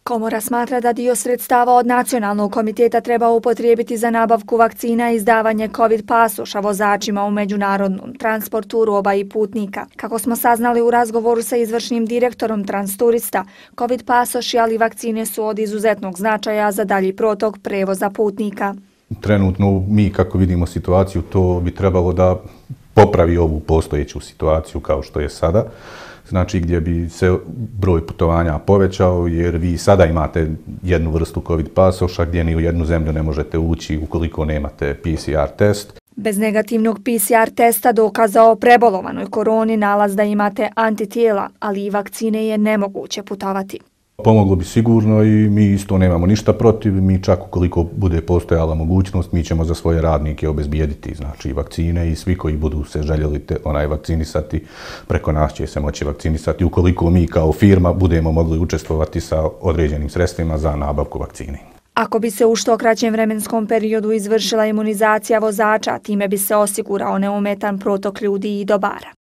Komora smatra da dio sredstava od Nacionalnog komiteta treba upotrijebiti za nabavku vakcina i izdavanje COVID pasoša vozačima u međunarodnom transportu roba i putnika. Kako smo saznali u razgovoru sa izvršnim direktorom Transturista, COVID pasoši ali vakcine su od izuzetnog značaja za dalji protok prevoza putnika. Trenutno mi kako vidimo situaciju, to bi trebalo da popravi ovu postojeću situaciju kao što je sada. Znači gdje bi se broj putovanja povećao jer vi sada imate jednu vrstu COVID pasoša gdje ni u jednu zemlju ne možete ući ukoliko nemate PCR test. Bez negativnog PCR testa dokaza o prebolovanoj koroni nalaz da imate antitijela, ali i vakcine je nemoguće putovati. Pomoglo bi sigurno i mi isto nemamo ništa protiv, mi čak ukoliko bude postojala mogućnost, mi ćemo za svoje radnike obezbijediti znači vakcine i svi koji budu se željeli vakcinisati, preko nas će se moći vakcinisati ukoliko mi kao firma budemo mogli učestvovati sa određenim sredstvima za nabavku vakcine. Ako bi se u što kraćem vremenskom periodu izvršila imunizacija vozača, time bi se osigurao neometan protok ljudi i dobara.